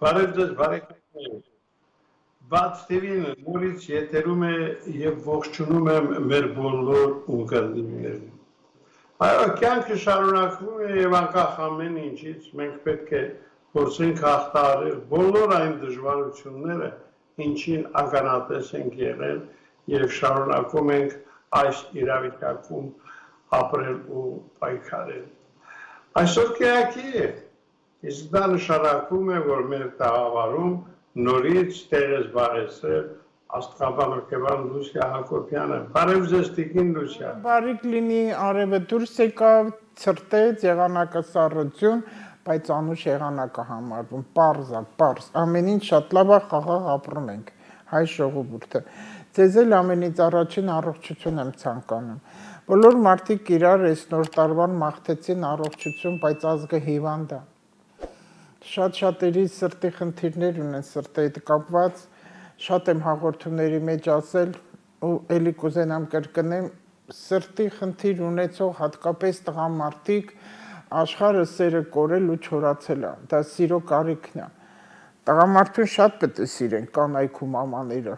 Բարև ձեզ, բարեկամներ։ Բաց TV-ն նորից եթերում է եւ ողջունում եմ մեր բոլոր ունկնդիրներին։ Այո, կյանքը շարունակվում է եւ անկախ ամեն ինչից մենք պետք է փորձենք հաղթահարել բոլոր այն դժվարությունները, ինչին ականատես ենք եղել եւ շարունակում ենք այս իրավիճակում ապրել ու պայքարել։ Այսօր կյանքի է, իսկ դա նշանակում է, որ մեր տաղավարում նորից տեղ է զբաղեցրել աստղաբան հոգեբան Լուսիա Հակոբյանը։ Բարև ձեզ, տիկին Լուսիա։ Բարիք լինի, արևը դուրս եկավ, ցրտեց, եղանակը սառություն, բայց անուշ եղանակը համարվում, պարզ, ամեն ինչ շատ լավ է, խաղաղ ապրում ենք, հայ ժողովուրդը։ Ձեզ էլ ամենից առաջին առողջություն եմ ցանկանում։ Բոլոր մարդիկ իրար այս նոր տարվան մաղթեցին առողջություն, բայց ազգը հիվանդ է։ Շատ-շատերի սրտի խնդիրներ ունեն սրտի հետ կապված, շատ եմ հաղորդումների մեջ ասել ու էլի կուզենամ կրկնեմ, սրտի խնդիր ունեցող հատկապես տղամարդիկ աշխարհը սերը կորել ու չորացել է, դա սիրո կարիքն է։ Տղամարդուն շատ պետք է սիրեն կանայք ու մամաները,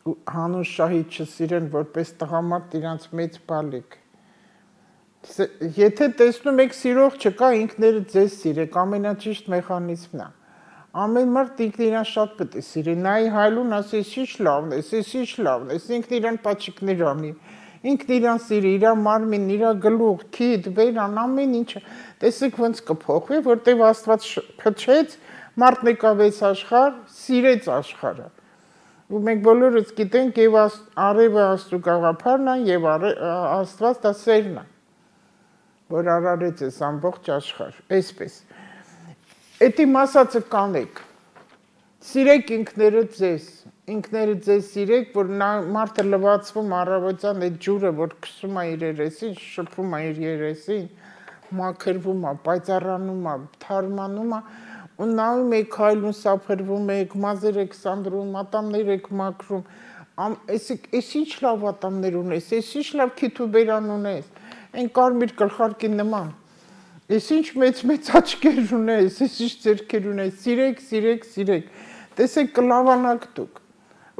ու հանուն շահի չսիրեն որպես տղամարդ իրանց մեծ բալիկ։ Եթե տեսնում եք սիրող չկա, ինքներդ ձեզ սիրեք, ամենաճիշտ մեխանիզմն է։ Ամեն մարդ ինքն իրան շատ պետք է սիրի, նայի հայլուն ասի, ես ինչ լավն ես, ես ինչ լավն ես, ինքն իրան պաչիկներ անի, ինքն իրան սիրի, իր մարմին, իր գլուխ, քիթ, բերան, ամեն ինչը։ Տեսեք ոնց կփոխվի, որտեվ Աստված փչեց, մարդն եկավ այս աշխարհ, սիրեց աշխարհը։ Ու մենք բոլորս գիտենք, եւ արևը Աստծո գաղափարն է, եւ Աստված դա սերն է, որ արարեց այս ամբողջ աշխարհ, այսպես։ Էդի մասածը կանեք, սիրեք ինքներդ ձեզ սիրեք, որ մարդը լվացվում առավոտյան այդ ջուրը, որ քսում է իր երեսին, շփում է իր երեսին, մաքրվում է, պայծառանում է, թարմանում է, ու նայում եք հայլուն սափրվում եք, մազեր եք սանդրում, ատամներ եք մաքրում, ես ինչ լավ ատամներ ունես, ես ինչ լավ քիթ ու բերան ունես, այն կարմիր գլխարկի նման, ես ինչ մեծ աչքեր ունես, ես ինչ ձեռքեր ունես, սիրեք, տեսեք կլավանաք դուք,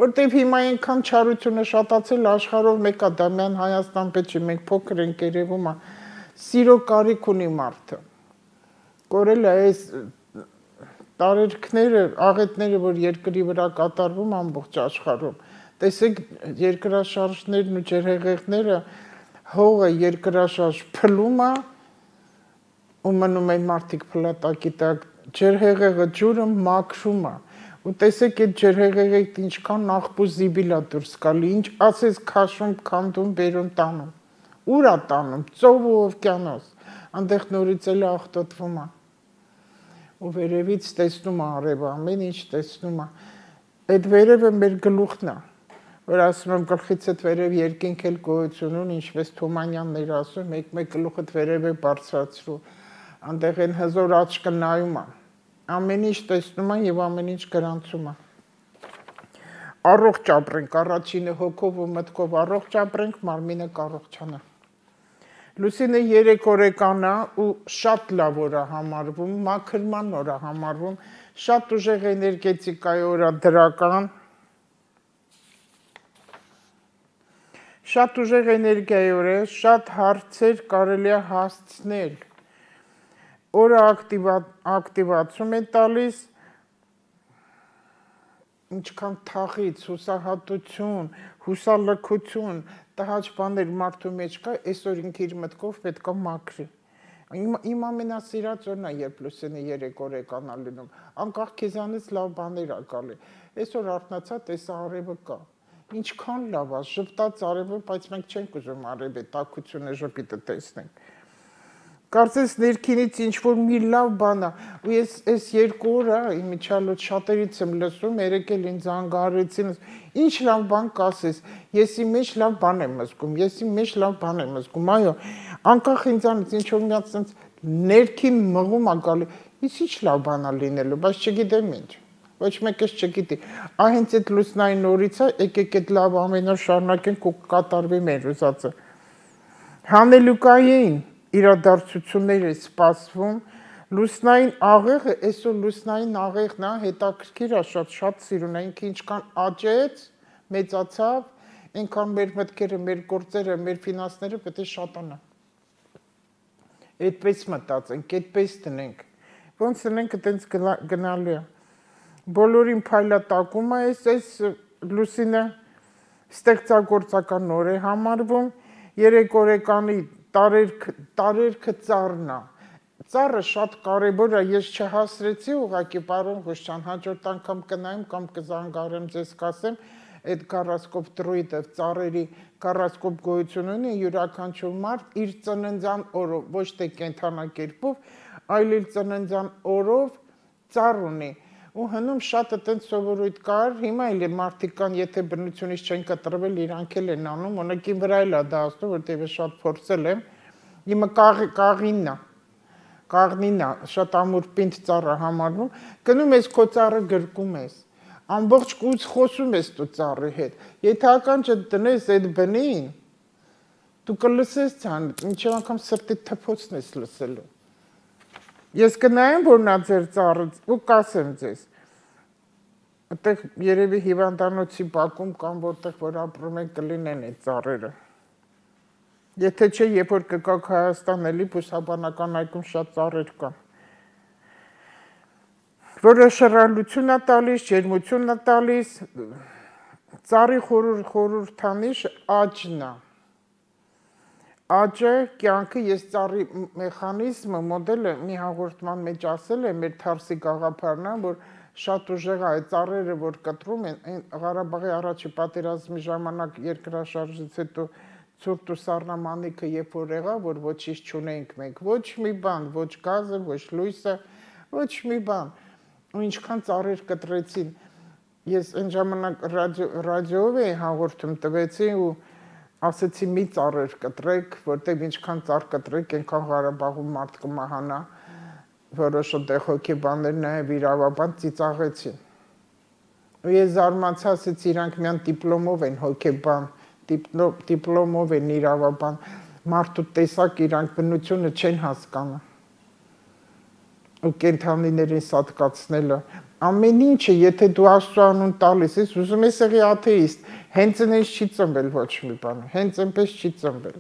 որտեվ հիմա այնքան չարությունը շատացել աշխարհով մեկա Դամյան Հայաստան պետք չի, մենք փոքր ենք երևում է, սիրո կարիք ունի մարդը, կորել է այս տարերքները, աղետները, որ երկրի վրա կատարվում ամբողջ աշխարհում, տեսեք երկրաշարժներն ու ջրհեղեղները, հողը երկրաշարժ փլում է, ու մնում են մարդիկ փլատակի տակ, ջրհեղեղը ջուրը մաքրում է, ու տեսեք այդ ջրհեղեղից ինչքան աղբու զիբիլ է դուրս գալի, ինչ ասես քաշում, քանդում, բերում, տանում, ուր է տանում, ծով ու օվկիանոս, այնտեղ նորից էլ աղտոտվում է, ու վերևից տեսնում է արևը, ամեն ինչ տեսնում է, այդ վերևը մեր գլուխն է, որ ասում եմ գլխիցդ վերև երկինք էլ գոյություն ունի, ինչպես Թումանյանն էր ասում, մեկ գլուխդ վերև է բարձրացրու, այնտեղ են հզոր աչքը նայում է, ամեն ինչ տեսնում է եւ ամեն ինչ գրանցում է։ Առողջ ապրենք, առաջինը հոգով ու մտքով առողջ ապրենք, մարմինը կառողջանա։ Լուսինը 3 օրեկան է ու շատ լավ օր է համարվում, մաքրման օր է համարվում, շատ ուժեղ էներգետիկայի օր է դրական, շատ ուժեղ էներգիայի օր է, շատ հարցեր կարելի է հասցնել, օրը ակտիվացում է տալիս, ինչքան թախից, հուսահատություն, հուսալքություն, տհաճ բաներ մարդու մեջ կա, այսօր ինքը իր մտքով պետք է մաքրի։ Իմ ամենասիրած օրն է, երբ Լուսինը 3 օրեկան է լինում, անկախ քեզանից լավ բաներ է գալի։ Այսօր արթնացա, տեսա արևը կա։ Ինչքան լավ է, ժպտաց արևը, բայց մենք չենք ուզում արևի տաքությունը ժպիտը տեսնենք։ Կարծես ներքինից ինչ-որ մի լավ բան է, ու ես այս 2 օրը իմիջիալոց շատերից եմ լսում, երեկ էլ ինձ անգարեցին, ինչ լավ բան կասես, ես իմ մեջ լավ բան եմ զգում, այո, անկախ ինձանից ինչ-որ մի հատ ներքին մղում է գալի, ես ինչ լավ բան է լինելու, բայց չգիտեմ ինչ, ոչ մեկս չգիտի, հենց այդ լուսնային օրից է, եկեք այդ լավ ամեն օր շարունակենք ու կատարվի մեր ուզածը։ Հանելուկային իրադարձություններ է սպասվում, Լուսնային աղեղը, այսօր լուսնային աղեղն է, հետաքրքիր է, շատ սիրուն է, ինքը ինչքան աճեց, մեծացավ, այնքան մեր մտքերը, մեր գործերը, մեր ֆինանսները պետք է շատանա։ Այդպես մտածենք, այդպես տնենք։ Ոնց տնենք, այտենց գնալու է։ Բոլորին փայլատակում է, այս լուսինը ստեղծագործական օր է համարվում, 3 օրեկանի տարերքը ծառն է։ Ծառը շատ կարևոր է, ես չհասրեցի ուղղակի պարոն Ղուշյան, հաջորդ անգամ կնայեմ կամ կզանգարեմ ձեզ կասեմ, այդ գարասկոպ դրույդը ծառերի գարասկոպ գոյություն ունի, յուրաքանչյուր մարդ իր ծննդյան օրով, ոչ թե կենդանակերպով, այլ իր ծննդյան օրով ծառ ունի։ Ու հնում շատ այտենց սովորույթ կար, հիմա էլ մարդիկ կան, եթե բնությունից չեն կտրվել, իրանք էլ են անում, օրինակի վրա էլ է դա ասում, որտեղ ես շատ փորձել եմ։ Հիմա կաղնին է, շատ ամուր պինդ ծառ է համարվում, գնում ես քո ծառը գրկում ես, ամբողջ կույց խոսում ես դու ծառի հետ, եթե ականջը դնես այդ բնին, դու կլսես ցան, մինչև անգամ սրտի թփոցն ես լսելու։ Ես կնայեմ, որ նա ձեր ծառը ու կասեմ ձեզ, այդտեղ երևի հիվանդանոցի բակում կամ որտեղ որ ապրում են կլինեն այդ ծառերը։ Եթե չէ, երբ որ կգաք Հայաստան էլի բուսաբանական այգում շատ ծառեր կան։ Որը շռայլություն է տալիս, ջերմություն է տալիս, ծառի խորհրդանիշ աճն է։ Աճը, կյանքը, ես ծառի մեխանիզմը, մոդելը մի հաղորդման մեջ ասել եմ, մեր թարսի գաղափարն է, որ շատ ուժեղ է այդ ծառերը, որ կտրում են, Ղարաբաղի առաջի պատերազմի ժամանակ երկրաշարժից հետո ցուրտ ու սառնամանիքը երբ որ եղավ, որ ոչինչ չունեինք մենք, ոչ մի բան, ոչ գազը, ոչ լույսը, ոչ մի բան, ու ինչքան ծառեր կտրեցին, ես այն ժամանակ ռադիոյով էի հաղորդում տվեցի ու ասեցի մի ծառեր կտրեք, որտեղ ինչքան ծառ կտրեք, այնքան Ղարաբաղում մարդ կմահանա, որոշ այդտեղ հոգեբաններ նաև իրավաբան ծիծաղեցին։ Ու ես զարմացա, ասեցի իրանք միան դիպլոմով են հոգեբան, դիպլոմով են իրավաբան, մարդու տեսակ իրանք բնությունը չեն հասկանում։ Ու կենդանիներին սատկացնելը, ամեն ինչը, եթե դու Աստծո անուն տալիս ես, ուզում ես եղի աթեիստ, հենց այնպես չի ծնվել ոչ մի բան, հենց այնպես չի ծնվել,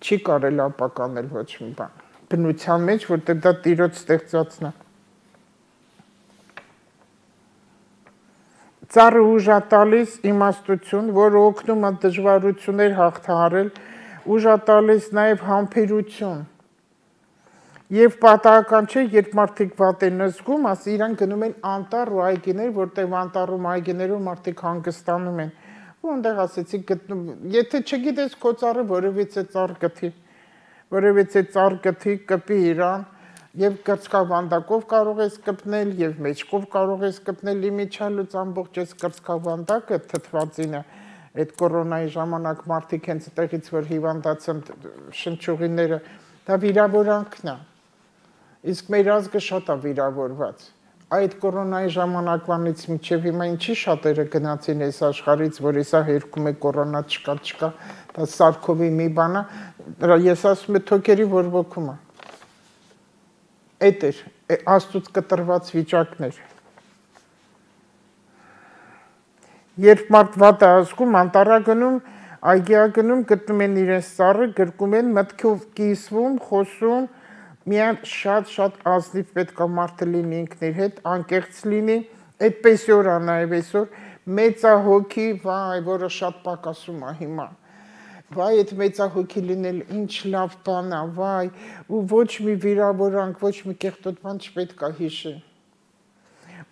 չի կարել ապականել ոչ մի բան, բնության մեջ, որտեղ դա Տիրոջ ստեղծածն է։ Ծառը ուժ է տալիս իմաստություն, որը օգնում է դժվարություններ հաղթահարել, ուժ է տալիս նաև համբերություն։ Եվ պատահական չէ, երբ մարդիկ վատ են զգում, իրանք գնում են անտառ ու այգիներ, որտեղ անտառում այգիներում մարդիկ հանգստանում են։ Ու այնտեղ ասեցի գտնում, եթե չգիտես քո ծառը որևիցե ծառ գթի, կպի իրան, եւ կրծքավանդակով կարող ես կպնել, եւ մեջքով կարող ես կպնել իմիջալուց ամբողջ այս կրծքավանդակը թթվածինը, այդ կորոնայի ժամանակ մարդիկ հենց այդտեղից որ հիվանդացան շնչուղիները, դա վիրավորանքն է։ Իսկ մեր ազգը շատ է վիրավորված։ Այդ կորոնայի ժամանակվանից մինչև հիմա ինչի շատերը գնացին այս աշխարհից, որ իսա հերքում է կորոնա չկա, դա սարքովի մի բան է, ես ասում եմ թոքերի որոքում է։ Այդ էր, Աստծուց կտրված վիճակներ։ Երբ մարդ վատ է ազգում, անտառ գնում, այգի գնում, գտնում են իրենց ծառը, գրկում են, մտքով կիսվում, խոսում, միայն շատ ազնիվ պետք է մարդը լինի ինքն իր հետ, անկեղծ լինի, այդպես օր է նաև այսօր, մեծահոգի, վայ, որը շատ պակասում է հիմա։ Վայ, այդ մեծահոգի լինել ինչ լավ բան է, վայ, ու ոչ մի վիրավորանք, ոչ մի կեղտոտ բան չպետք է հիշի։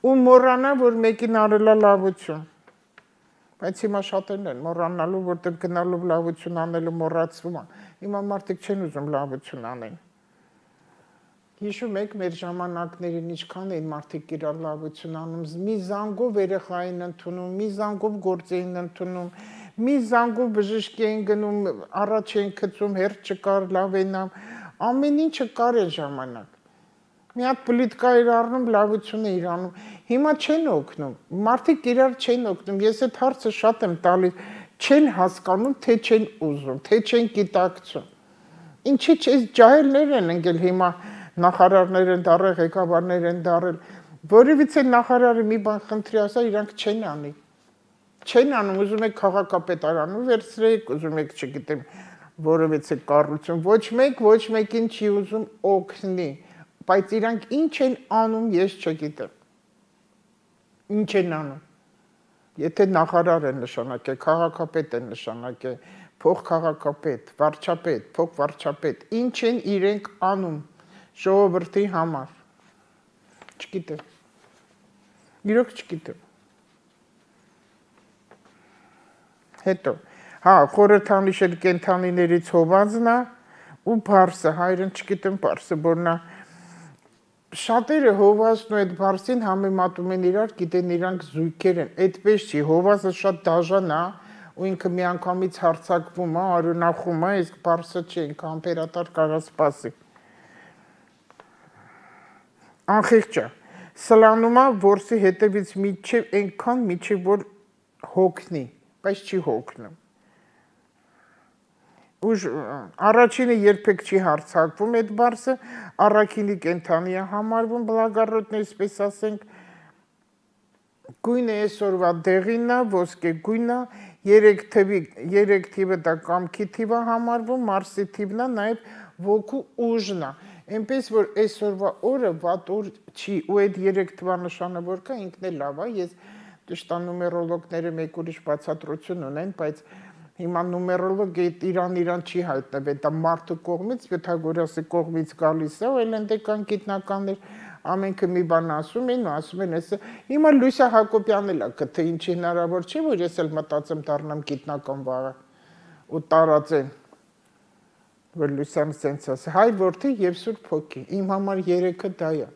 Ու մոռանա, որ մեկին արել է լավություն։ Բայց հիմա շատերն են մոռանալու, որտեղ գնալով լավություն անելը մոռացվում է։ Հիմա մարդիկ չեն ուզում լավություն անեն։ Հիշում եք մեր ժամանակներին ինչքան էին մարդիկ իրար լավություն անում, մի զանգով երեխային ընդունում, մի զանգով գործ էին ընդունում, մի զանգով բժշկի էին գնում, առաջ էին գցում, հերթ չկար, լավ էին անում, ամեն ինչը կար այն ժամանակ։ Մի հատ պլիտկա էր առնում, լավություն էր անում։ Հիմա չեն օգնում, մարդիկ իրար չեն օգնում, ես այդ հարցը շատ եմ տալիս, չեն հասկանում, թե չեն ուզում, թե չեն գիտակցում։ Ինչի՞ այս ջահելներ են ընկել հիմա նախարարներ են դարել, ղեկավարներ են դարել, որևիցե նախարարը մի բան խնդրի ասա, իրանք չեն անի։ Չեն անում, ուզում եք քաղաքապետարանում վերցրեք, ուզում եք, չգիտեմ, որևիցե կառույցում, ոչ մեկին չի ուզում օգնի, բայց իրանք ինչ են անում, ես չգիտեմ։ Ինչ են անում։ Եթե նախարար են նշանակել, քաղաքապետ են նշանակել, փոխքաղաքապետ, վարչապետ, փոխվարչապետ, ինչ են իրենք անում ժողովրդի համար։ Չգիտեմ։ Իրոք չգիտեմ։ Հետո, հա, խորհրդանիշել կենթանիներից հովազն է ու բարսը, հայերեն չգիտեմ բարսը, որնա շատերը հովազն ու այդ բարսին համեմատում են իրար, գիտեն իրանք զույգեր են, այդպես չի, հովազը շատ դաժան է ու ինքը միանգամից հարցակվում է, արյունախում է, իսկ բարսը չի, ինքը ամպերատար կարա սպասի։ Անխիղճ է, սլանում է որսի հետևից միջև այնքան միջև որ հոգնի, բայց չի հոգնում։ Առաջինը երբեք չի հարցակվում այդ բարսը, առաքինի կենթանի է համարվում, բլագարոտն այսպես ասենք, գույնը այսօրվա դեղինն է, ոսկե գույնը, 3 թիվը դա կամքի թիվ է համարվում, մարսի թիվն է, նաև ոգու ուժն է, այնպես որ այսօրվա օրը վատ օր չի, ու այդ 3 թվանշանը որ կա, ինքն է լավ է, ես ճշտա նումերոլոգները մեկ ուրիշ բացատրություն ունեն, բայց հիմա նումերոլոգը իրան չի հայտնվել, դա մարդու կողմից, Պյութագորասի կողմից գալիս է, ու էլենդեկան գիտնականներ ամենքը մի բան ասում են, հիմա Լույսա Հակոբյանն էլ է, թե ինչի հնարավոր չի, որ ես էլ մտածեմ դառնամ գիտնական վաղը ու տարածեմ, որ Լույսան սենց ասի, հայր որդի և Սուրբ Հոգի, իմ համար երեքը դա է,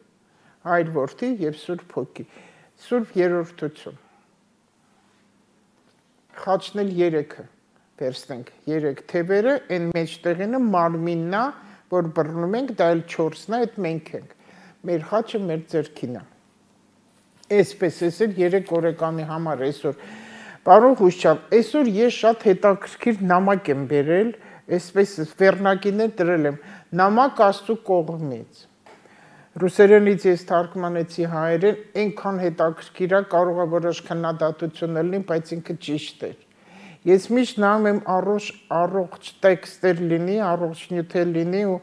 հայր որդի և Սուրբ Հոգի, Սուրբ երրորդություն, խաչնել երեքը, վերցնենք 3 թևերը, այն մեջտեղինը մարմինն է, որ բռնում ենք, դա էլ 4-ն է, այդ մենք ենք, մեր խաչը մեր ձեռքին է, այսպես էլ 3 օրեկանի համար այսօր, պարոն Խուշչյան, այսօր ես շատ հետաքրքիր նամակ եմ բերել, այսպես վերնակիներ դրել եմ, նամակ Աստծու կողմից, ռուսերենից ես թարգմանեցի հայերեն, այնքան հետաքրքիր է, կարող է որոշ քննադատություն լինի, բայց ինքը ճիշտ էր։ Ես միշտ նայում եմ առողջ տեքստեր լինի, առողջ նյութեր լինի ու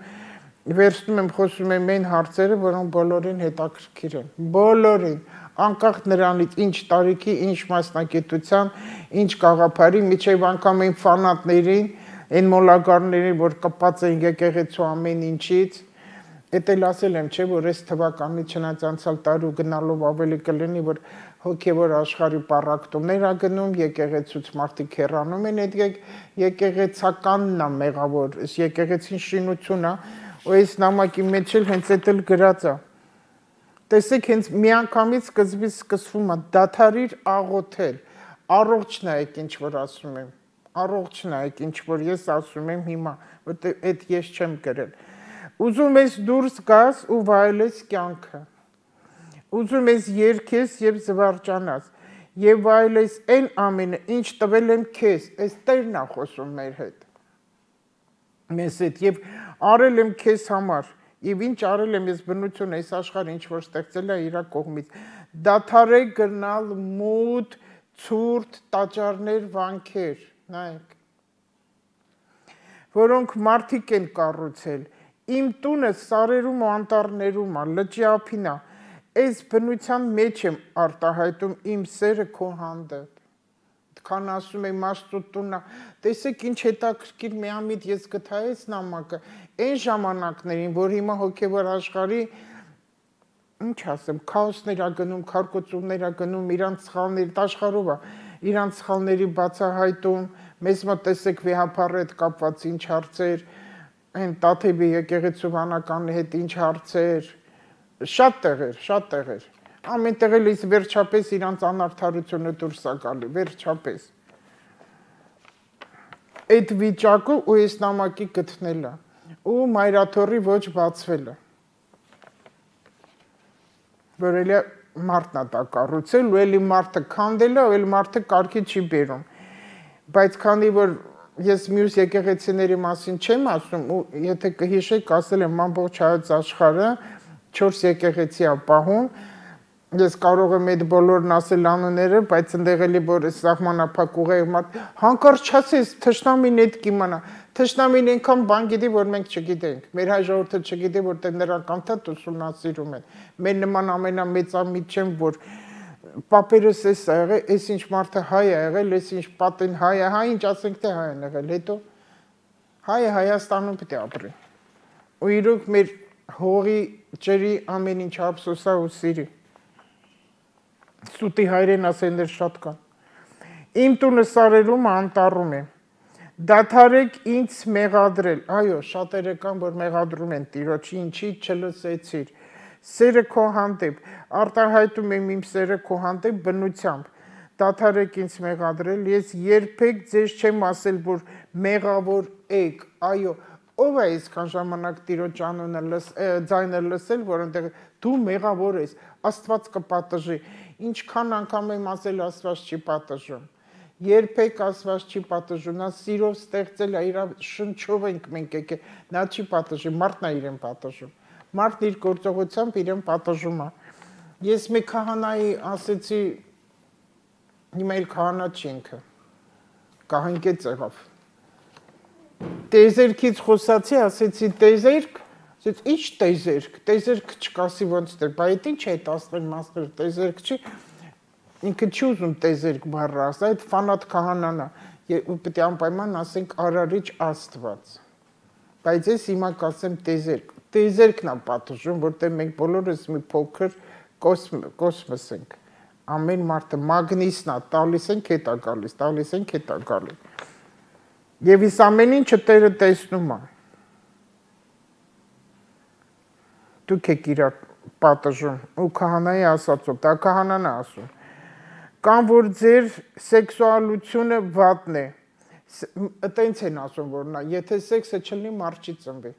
վերցնում եմ խոսում եմ այն հարցերը, որոնք բոլորին հետաքրքիր են, բոլորին, անկախ նրանից ինչ տարիքի, ինչ մասնագիտության, ինչ գաղափարի, միջև անգամ այն ֆանատներին, այն մոլագարներին, որ կպած են եկեղեցու ամեն ինչից, Էդ էլ ասել եմ, չէ, որ այս թվականի չնայած անցյալ տարու գնալով ավելի կլինի, որ հոգևոր աշխարհի պառակտումներ ա գնում, եկեղեցուց մարդիկ հեռանում են, այդ եկեղեցականն ա մեղավոր, այս եկեղեցին շինություն ա, ու այս նամակի մեջ էլ հենց այդ էլ գրած ա։ Տեսեք, հենց միանգամից սկզբից սկսվում ա դադարիր աղոթել, առողջ նայեք ինչ որ ասում եմ, առողջ նայեք ինչ որ ես ասում եմ հիմա, որտեղ այդ ես չեմ գրել։ Ուզում ես դուրս գաս ու վայելես կյանքը, ուզում ես երգես և զվարճանաս, և վայելես այն ամենը, ինչ տվել եմ քեզ, այս Տերն ա խոսում մեր հետ, մեզ հետ, և արել եմ քեզ համար, և ինչ արել եմ ես բնություն, այս աշխարհը ինչ որ ստեղծել է իրա կողմից, դադարեք գնալ մութ, ցուրտ տաճարներ, վանքեր, նայեք, որոնք մարդիկ են կառուցել, Իմ տունը սարերում ու անտառներում ա, լճի ափին ա, այս բնության մեջ եմ արտահայտում իմ սերը քո հանդեպ։ Քան ասում եմ Աստծո տունն ա, տեսեք ինչ հետաքրքիր միամիտ ես գտա այս նամակը, այն ժամանակներին, որ հիմա հոգևոր աշխարհի, ինչ ասեմ, քաոսներ ա գնում, քարկոծումներ ա գնում, իրանց սխալների աշխարհով ա, իրանց սխալների բացահայտում, մեզ մոտ տեսեք վեհապարի հետ կապված ինչ հարցեր Այն Տաթևի եկեղեցու վանականի հետ ինչ հարցեր, շատ տեղեր, ամեն տեղել ես վերջապես իրանց անարդարությունը դուրս ա գալի, վերջապես։ Այդ վիճակը ու այս նամակի գտնելը, ու մայրաթորի ոչ բացվելը, որ էլի մարդն ա դա կառուցել, ու էլի մարդը քանդել է, ու էլի մարդը կարգի չի բերում, բայց քանի որ ես մյուս եկեղեցիների մասին չեմ ասում, ու եթե կհիշեք, ասել եմ ամբողջ հայոց աշխարհը 4 եկեղեցի է պահում, ես կարող եմ այդ բոլորն ասել անունները, բայց ընդեղ էլի որ սահմանափակ ուղեղ մարդ հանկարծ չասես, թշնամին այդ կիմանա, թշնամին այնքան բան գիտի, որ մենք չգիտենք, մեր հայ ժողովուրդը չգիտի, որտեղ նրանք անդադ ուսումնասիրում են, մեր նման ամենամեծամիտ չեմ, որ պապերս էս ա եղել, էս ինչ մարդը հայ է եղել, էս ինչ պատին հայ է, հայ ինչ ասենք թե հայ են եղել, հետո հայը Հայաստանում պետք է ապրի, ու իրոք մեր հողի ջրի ամեն ինչ ափսոսա ու սիրի, սուտի հայրեն ասեններ շատ կան, իմ տունը սարերում անտառում է, դադարեք ինձ մեղադրել, այո, շատերը կան, որ մեղադրում են տիրոջի, ինչի չլսեցիր, սերը քո հանդեպ, արտահայտում եմ իմ սերը քո հանդեպ բնությամբ, դադարեք ինձ մեղադրել, ես երբեք ձեզ չեմ ասել, որ մեղավոր եք, այո, ով է այսքան ժամանակ տիրոջ անունը ձայնը լսել, որ այնտեղ դու մեղավոր ես, Աստված կպատժի, ինչքան անգամ եմ ասել Աստված չի պատժում, երբեք Աստված չի պատժում, նա սիրով ստեղծել է, իր շնչով ենք մենք եկել, նա չի պատժի, մարդն է իրեն պատժում, մարդն իր գործողությամբ իրեն պատժում է, ես մի քահանայի ասեցի, հիմա իր քահանա չի ինքը, կահանկեց եղավ, տեզերքից խոսացի, ասեցի տեզերք, ասեց ինչ տեզերք, տեզերք չկասի ոնց դեր, բա այդ ինչ է տասներ մասներ, տեզերք չի, ինքը չի ուզում տեզերք բառը ասա, այդ ֆանատ քահանան է, ու պետք է անպայման ասենք արարիչ Աստված, բայց ես հիմա կասեմ տեզերք, տեզերքն է պատժում, որտեղ մենք բոլորս մի փոքր կոսմոս ենք, ամեն մարդը մագնիսն է, տալիս ենք հետ է գալիս, տալիս ենք հետ է գալիս, և իս ամեն ինչը Տերը տեսնում է, դուք եք իրար պատժում, ու քահանայի ասացով, դա քահանան է ասում, կամ որ ձեր սեքսուալությունը վատն է, տենց են ասում, որ նա, եթե սեքսը չլնի, մարդ չի ծնվի,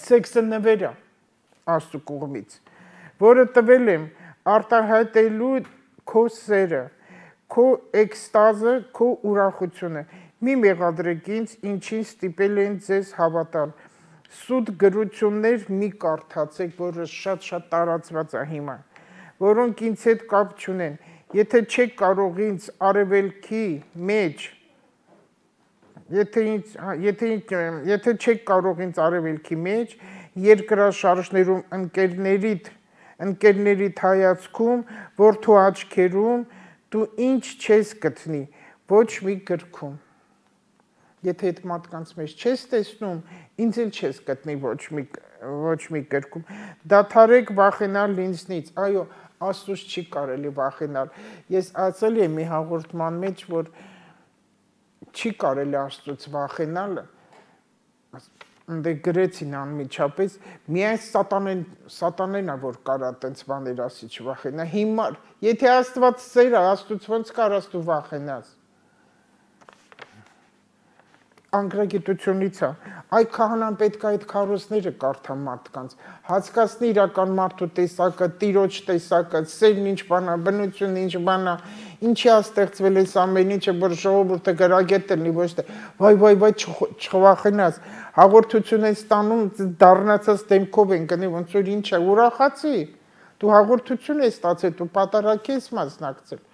սեքսը նվեր է, Աստծու կողմից, որը տվել եմ արտահայտելու քո սերը, քո էքստազը, քո ուրախությունը, մի մեղադրեք ինձ, ինչին ստիպել են ձեզ հավատալ, սուտ գրություններ մի կարդացեք, որը շատ տարածված է հիմա, որոնք ինձ հետ կապ չունեն, եթե չեք կարող ինձ արևելքի մեջ, եթե չեք կարող ինձ արևելքի մեջ, երկրաշարժներում ընկերներիդ հայացքում, որդու աչքերում, դու ինչ չես գտնի, ոչ մի գրքում, եթե այդ մարդկանց մեջ չես տեսնում, ինձ էլ չես գտնի ոչ մի գրքում, դադարեք վախենալ ինձնից, այո, Աստուծուց չի կարելի վախենալ, ես ասել եմ մի հաղորդման մեջ, որ չի կարելի Աստծուց վախենալ, դե գրեցին անմիջապես, միայն սատանեն է, որ կարա տենց բաներ ասի չվախենա, հիմար, եթե Աստված սեր է, Աստուց ոնց կարաս դու վախենաս, անգրագիտությունից է, այ քահանան պետք է այդ քարոզները կարդա մարդկանց, հասկացնի իրական մարդու տեսակը, տիրոջ տեսակը, սերն ինչ բան է, բնությունն ինչ բան է, ինչի է ստեղծվել այս ամեն ինչը, որ ժողովուրդը գրագետ լինի, ոչ թե վայ չվախենաս, հաղորդություն են ստանում, դառնացած դեմքով են գնի, ոնց որ ինչ է, ուրախացի, դու հաղորդություն ես ստացել, դու պատարագի ես մասնակցել,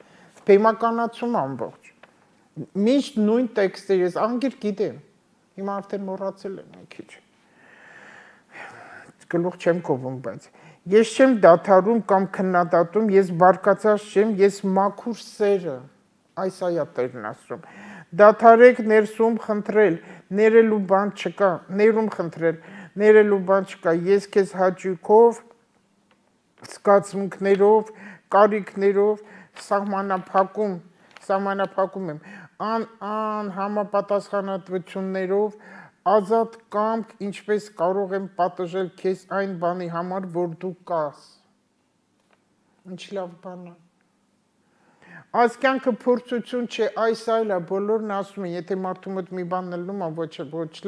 բեմականացում ամբողջ միշտ նույն տեքստեր ես անգիր գիտեմ, հիմա արդեն մոռացել եմ մի քիչ, գլուխ չեմ կովում, բայց ես չեմ դադարում կամ քննադատում, ես բարկացած չեմ, ես մաքուր սերը, այս այա Տերն ասում, դադարեք ներսում խնդրել, ներելու բան չկա, ներում խնդրել, ներելու բան չկա, ես քեզ հաճույքով, զգացմունքներով, կարիքներով, սահմանափակում եմ, համապատասխանատվություններով, ազատ կամք, ինչպես կարող եմ պատժել քեզ այն բանի համար, որ դու կաս, ինչ լավ բան է, այս կյանքը փորձություն չէ, այս այլ է, բոլորն ասում են, եթե մարդու մոտ մի բան լնում է, ոչ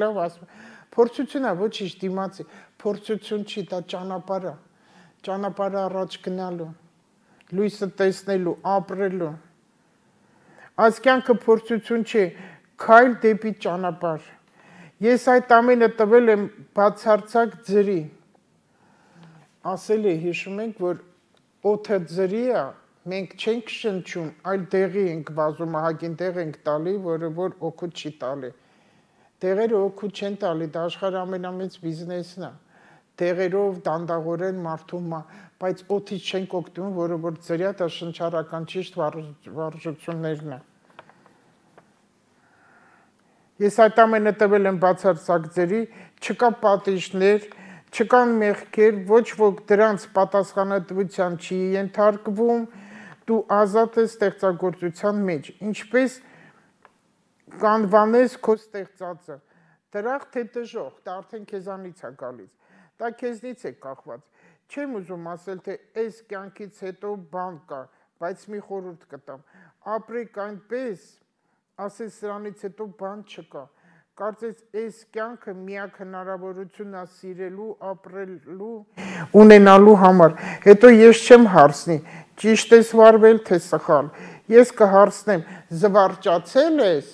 լավ, ասում փորձություն է, ոչինչ դիմացի, փորձություն չի, դա ճանապարհը առաջ գնալու, լույսը տեսնելու, ապրելու, այս կյանքը փորձություն չի, քայլ դեպի ճանապարհ։ Ես այդ ամենը տվել եմ բացարձակ ձրի։ Ասել է, հիշում ենք, որ օդը ձրի է, մենք չենք շնչում, այլ դեղի ենք վազում, ահագին դեղ ենք տալի, որը որ օգուտ չի տալի։ Դեղերը օգուտ չեն տալի, դա աշխարհի ամենամեծ բիզնեսն է։ Դեղերով դանդաղորեն մարդում, բայց օդից չենք օգտվում, որը որ ձրիա, դա շնչառական ճիշտ վարժություններն է։ Ես այդ ամենը տվել եմ բացարձակ ձրի, չկա պատիժներ, չկան մեղքեր, ոչ ոք դրանց պատասխանատվության չի ենթարկվում, դու ազատ ես ստեղծագործության մեջ, ինչպես կանվանես քո ստեղծածը, դրախտ թե դժոխք, դա արդեն քեզանից է գալիս, դա քեզնից է կախված, չեմ ուզում ասել, թե այս կյանքից հետո բան կա, բայց մի խորհուրդ կտամ, ապրեք այնպես, ասես սրանից հետո բան չկա, կարծես այս կյանքը միակ հնարավորությունն է սիրելու, ապրելու, ունենալու համար, հետո ես չեմ հարցնի, ճիշտ ես վարվել, թե սխալ, ես կհարցնեմ, զվարճացել ես,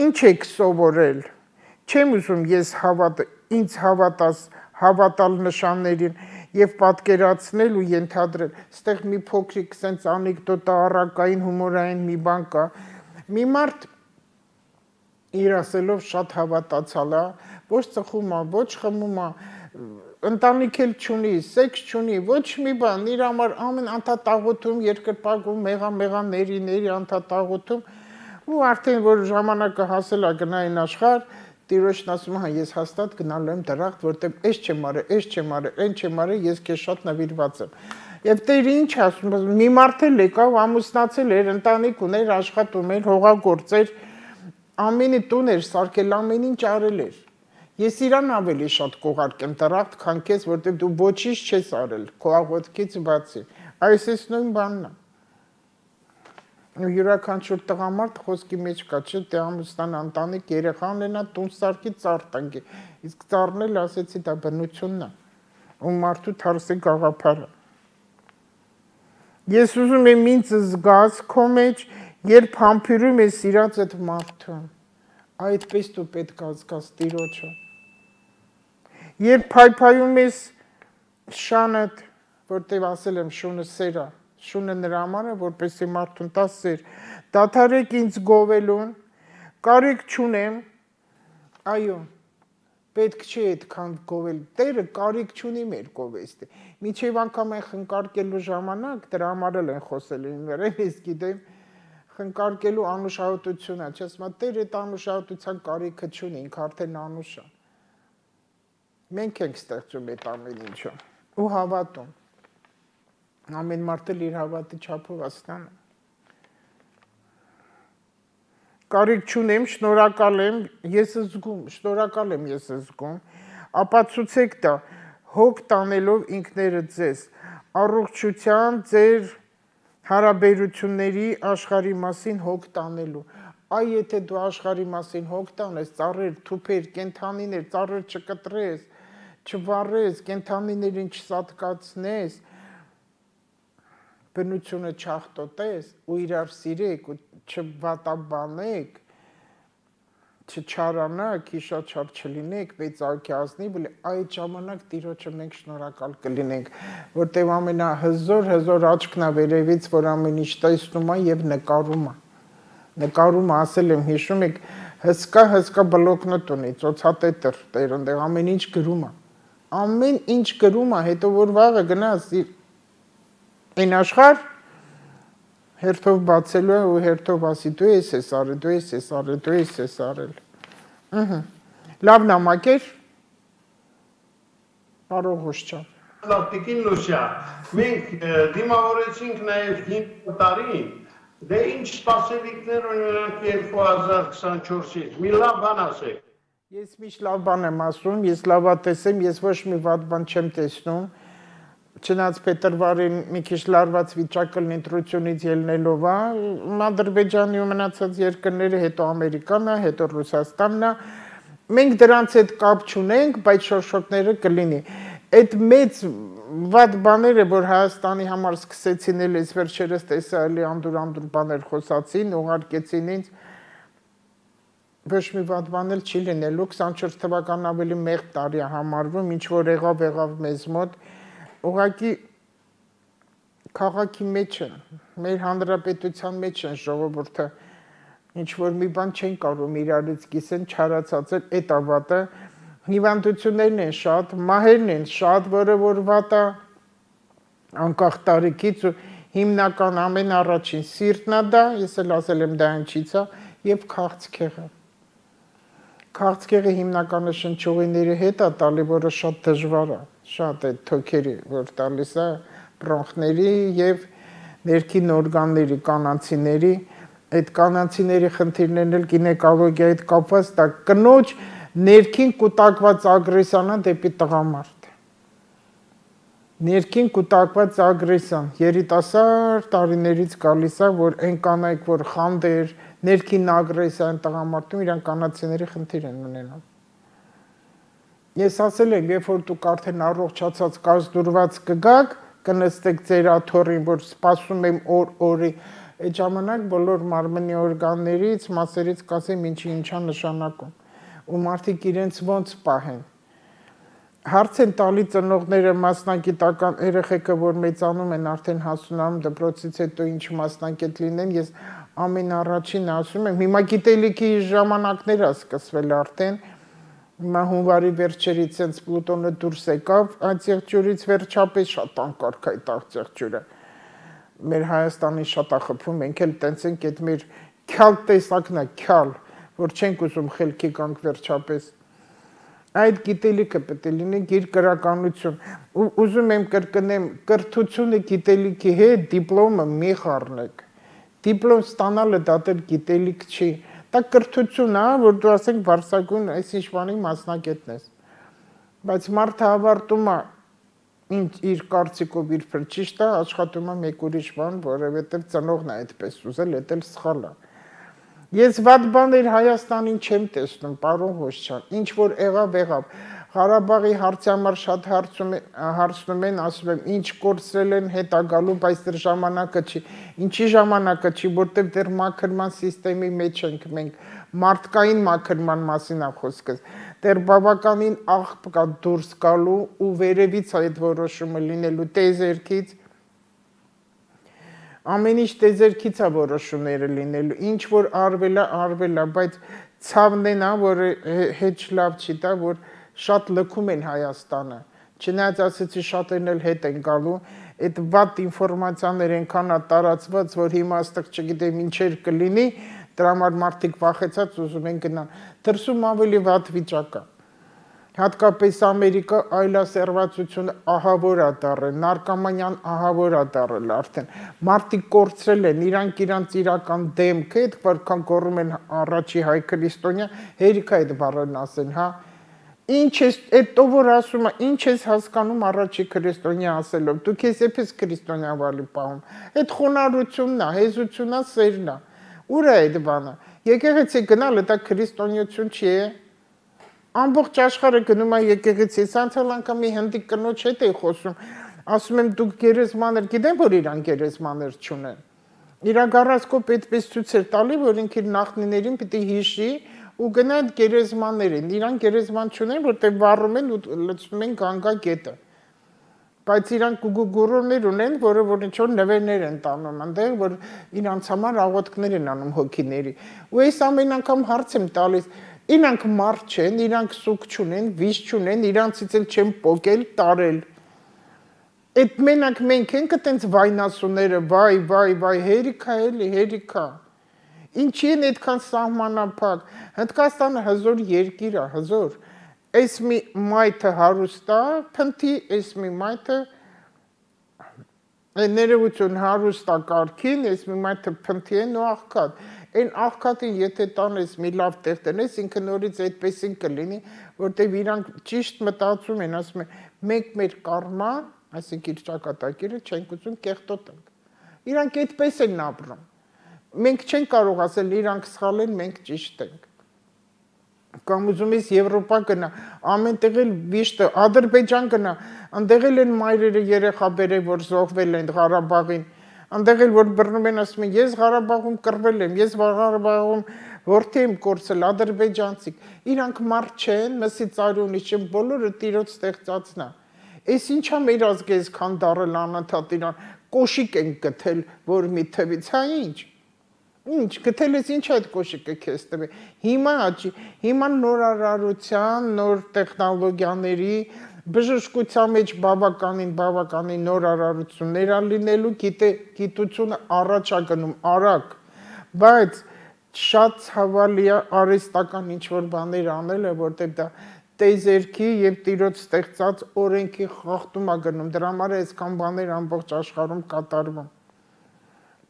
ինչ եք սովորել, չեմ ուզում ես ինձ հավատալ նշաններին և պատկերացնել ու ենթադրել, ստեղ մի փոքրիկ սենց անեկդոտա առակային հումորային մի բան կա, մի մարդ իր ասելով շատ հավատացալ է, ոչ ծխում է, ոչ խմում է, ընտանիք էլ չունի, սեքս չունի, ոչ մի բան, իր համար ամեն անդադաղոթում, երկրպագում, մեղաների անդադաղոթում, ու արդեն որ ժամանակը հասել է գնային աշխարհ, Տիրոջն ասում է, ես հաստատ գնալու եմ դրախտ, որտեղ այս չեմ արել, այն չեմ արել, ես քեզ շատ նվիրված եմ։ Եվ Տերը ինչ ասում, մի մարդ էլ եկավ, ամուսնացել էր, ընտանիք ուներ, աշխատում էր, հողագործեր, ամենի տուն էր սարքել, ամեն ինչ արել էր։ Ես իրան ավելի շատ կողարկեմ դրախտ, քան քեզ, որտեղ դու ոչինչ չես արել, քո աղոթքից բացի։ Այս նույն բանն է։ Յուրաքանչյուր տղամարդ խոսքի մեջ կա, չէ, դե ամուսնան ընտանիք երեխա ունենա, տուն սարքի, ծառ տնկի, իսկ ծառն էլ ասեցի դա բնությունն է, ու մարդու թարսի գաղափարը։ Ես ուզում եմ ինձ զգաս քո մեջ, երբ համբուրում ես սիրած այդ մարդուն, այդպես դու պետք է զգաս Տիրոջը։ Երբ փայփայում ես շանդ, որտեղ ասել եմ շունը սեր է, շունը նրա համար է, որպեսզի մարդուն տա սեր, դադարեք ինձ գովելուն, կարիք չունեմ, այո, պետք չի այդքան գովել, Տերը կարիք չունի մեր գովեստի, մինչև անգամ են խնկարկելու ժամանակ, դրա համար էլ են խոսել իմ վերեն, ես գիտեմ, խնկարկելու անուշահոտությունը, չես մա Տերը այդ անուշահոտության կարիքը չունի, ինքը արդեն անուշ է, մենք ենք ստեղծում այդ ամեն ինչը, ու հավատում, ամեն մարդ էլ իր հավատի չափով աստանը։ Կարիք չունեմ, շնորհակալ եմ, ես զգում, շնորհակալ եմ ես զգում, ապացուցեք դա, հոգ տանելով ինքներդ ձեզ, առողջության ձեր հարաբերությունների աշխարհի մասին հոգ տանելու։ Այ եթե դու աշխարհի մասին հոգ տանես, ծառեր, թուփեր, կենդանիներ, ծառեր չկտրես, չվառես, կենդանիներին չսատկացնես, բնությունը չախտոտես ու իրար սիրեք ու չվատաբանեք, չչարանաք, իշաչար չլինեք, մեծարքի ազնիվ, այդ ժամանակ Տիրոջը մենք շնորհակալ կլինենք, որտեղ ամենահզոր աչքն է վերևից, որ ամեն ինչ տեսնում է եւ նկարում է։ Նկարում ասել եմ, հիշում եք, հսկա բլոկնոտ ունի, ծոցատետր, Տեր այնտեղ ամեն ինչ գրում է։ Ամեն ինչ գրում է, հետո որ վաղը գնաս Այն աշխարհ հերթով բացելու է ու հերթով ասի դու ես արել, դու ես արել, դու ես արել։ Լավ նամակեր, Պարոն Ղուշչյան։ Լավ տիկին Լուսիա, մենք դիմավորեցինք նաև 5 տարին, դե ինչ սպասելիքներ ունենք 2024-ից, մի լավ բան ասեք։ Ես միշտ լավ բան եմ ասում, ես լավատես եմ, ես ոչ մի վատ բան չեմ տեսնում։ Չնայած փետրվարին մի քիչ լարված վիճակը ընտրությունից ելնելով է, Ադրբեջանի ու մնացած երկրները, հետո Ամերիկան է, հետո Ռուսաստանն է, մենք դրանց հետ կապ չունենք, բայց շոշոկները կլինի։ Այդ մեծ վատ բաները, որ Հայաստանի համար սկսեցին էլիս վերջերս տեսա էլի անդուր բաներ խոսացին, ուղարկեցին ինձ, ոչ մի վատ բան էլ չի լինելու, 24 թվականն ավելի մեղմ տարի է համարվում, ինչ որ եղավ մեզ մոտ, ուղղակի քաղաքի մեջ են, մեր հանրապետության մեջ են ժողովուրդը, ինչ որ մի բան չեն կարող իրարից կիսեն, չարացած էլ էդ ավատը, հիվանդություններն են շատ, մահերն են շատ, որը որ վատ է, անկախ տարիքից ու հիմնական ամեն առաջին սիրտն է դա, ես էլ ասել եմ դա ինչից է, եւ քաղցկեղը։ Քաղցկեղը հիմնականը շնչուղիների հետ է տալի, որը շատ դժվար է, շատ է թոքերի, որ տալիս է բրոնխների եւ ներքին օրգանների, կանացիների, այդ կանացիների խնդիրներն էլ գինեկոլոգիայի հետ կապված, դա կնոջ ներքին կուտակված ագրեսիան է դեպի տղամարդ։ Ներքին կուտակված ագրեսիան, երիտասարդ տարիներից գալիս է, որ այն կանայք, որ խանդեր, ներքին ագրեսիան տղամարդում, իրան կանացիների խնդիր են ունենում։ Ես ասել եմ, երբ որ դուք արդեն առողջացած կազդուրված կգաք, կնստեք ձեր աթոռին, որ սպասում եմ օրի, այդ ժամանակ բոլոր մարմնի օրգաններից, մասերից կասեմ ինչա նշանակում, ու մարդիկ իրենց ոնց պահեն։ Հարց են տալի ծնողները մասնագիտական երեխեքը, որ մեծանում են արդեն հասունանում դպրոցից հետո ինչ մասնագետ լինեն, ես ամեն առաջին ասում եմ, հիմա գիտելիքի ժամանակներ է սկսվել արդեն, հիմա հունվարի վերջերից հենց Պլուտոնը դուրս եկավ, այդ եղջյուրից վերջապես շատ անկարգ է այդ եղջյուրը։ Մեր Հայաստանի շատ է խփում, մենք էլ տենց ենք այդ մեր քյալ տեսակն է, քյալ, որ չենք ուզում խելքի գանք վերջապես։ Այդ գիտելիքը պետք է լինի գիր գրականություն։ Ուզում եմ կրկնեմ, կրթությունը գիտելիքի հետ դիպլոմը մի խառնեք։ Դիպլոմ ստանալը դա դեռ գիտելիք չի։ Դա կրթություն է, որ դու ասենք բարձրագույն այս ինչ բանի մասնագետն ես։ Բայց մարդը ավարտում է իր կարծիքով իր փր ճիշտ է, աշխատում է մեկ ուրիշ բան, որովհետև ծնողն է այդպես ուզել, դա էլ սխալ է։ Ես վատ բաներ Հայաստանին չեմ տեսնում, պարոն Ղոշչյան, ինչ որ եղավ։ Ղարաբաղի հարցի համար շատ հարցնում են, ասում եմ, ինչ կորցրել են հետա գալու, բայց դեռ ժամանակը չի։ Ինչի ժամանակը չի, որտեղ դեռ մաքրման համակարգի մեջ ենք մենք, մարդկային մաքրման մասին է խոսքս։ Դեռ բավականին աղբ կա դուրս գալու ու վերևից այդ որոշումը լինելու տեզերքից։ Ամեն ինչ տեզերքից է որոշումները լինելու, ինչ որ արվել է, բայց ցավն է, որ հետ լավ չի տա, որ շատ լքում են Հայաստանը, չնայած ասեցի շատերն էլ հետ են գալու, այդ վատ ինֆորմացիաներ ենքան է տարածված, որ հիմա աստղ չգիտեմ ինչեր կլինի, դրա համար մարդիկ վախեցած ուզում են գնան, դրսում ավելի վատ վիճակ է, հատկապես Ամերիկա այլասերվածությունը ահավոր է դառել, նարկոմանիան ահավոր է դառել արդեն, մարդիկ կորցրել են, իրանք իրական դեմքը, այդ որքան գոռում են առաջի հայ քրիստոնյա, հերիք է այդ բառերն ասեն, հա, ինչ ես, այդ ով որ ասում է, ինչ ես հասկանում առաջի քրիստոնյա ասելով, դու քեզ եպես քրիստոնյա վալի պահում, այդ խոնարհությունն է, հեզությունն է, սերն է, ուր է այդ բանը, եկեղեցի գնալը դա քրիստոնյություն չի է, ամբողջ աշխարհը գնում է եկեղեցի, անցյալ անգամ մի հնդիկ կնոջ հետ էի խոսում, ասում եմ դուք գերեզմաներ, գիտեմ որ իրան գերեզմաներ չունեն, իրա գառասկոպ այդպես ցույց էր տալի, որ ինքը իր նախնիներին պիտի հիշի ու գնա այդ գերեզմաններին, իրան գերեզման չունեն, որտեղ վառում են ու լցնում են Գանգա գետը, բայց իրանք գուրուներ ունեն, որը որ ինչ-որ նվերներ են տանում, այնտեղ որ իրանց համար աղոթքներ են անում հոգիների, ու այս ամեն անգամ հարց եմ տալիս, իրանք մարդ չեն, իրանք սուկ չունեն, վիճ չունեն, իրանցից էլ չեն պոկել, տարել, այդ մենակ մենք ենք այդպես վայնասուները, վայ, հերիքա էլի, հերիքա, ինչի են այդքան սահմանափակ, Հնդկաստանը հզոր երկիր է, հզոր, այս մի մայթը հարուստ է, փնթի, այս մի մայթը ներողություն հարուստ է կարգին, այս մի մայթը փնթի են ու աղքատ, այն աղքատին եթե տանես մի լավ տեղ տնես, ինքը նորից այդպեսին կլինի, որտեղ իրանք ճիշտ մտածում են, ասում են, մենք մեր կարմա, այսինքն իր ճակատագիրը չենք ուզում կեղտոտ ենք, իրանք այդպես են ապրում, մենք չենք կարող ասել իրանք սխալ են, մենք ճիշտ ենք, կամ ուզում ես Եվրոպա գնա, ամենտեղ էլ վիշտը, Ադրբեջան գնա, այնտեղ էլ են մայրերը երեխա բերել, որ զոհվել են Ղարաբաղին, այնտեղ էլ որ բռնում են ասում են, ես Ղարաբաղում կռվել եմ, ես Ղարաբաղում որդի եմ կորցել, ադրբեջանցիք, իրանք մարդ չեն, մսի ծարյունի չեն, բոլորը տիրոջ ստեղծածն է։ Էս ինչա մեր ազգը այսքան դառել անընդհատ իրան, կոշիկ են գտել, որ մի թվից, հա ինչ։ Ինչ գտել ես ինչ այդ կոշիկը քեզ տվի։ Հիմա նորարարության, նոր տեխնոլոգիաների բժշկության մեջ բավականին նորարարություններ ա լինելու, գիտությունը առաջ ա գնում, արագ, բայց շատ ցավալի է արհեստական ինչ-որ բաներ անելը, որտեղ դա տեզերքի եւ տիրոջ ստեղծած օրենքի խախտում ա գնում, դրա համար է այսքան բաներ ամբողջ աշխարհում կատարվում։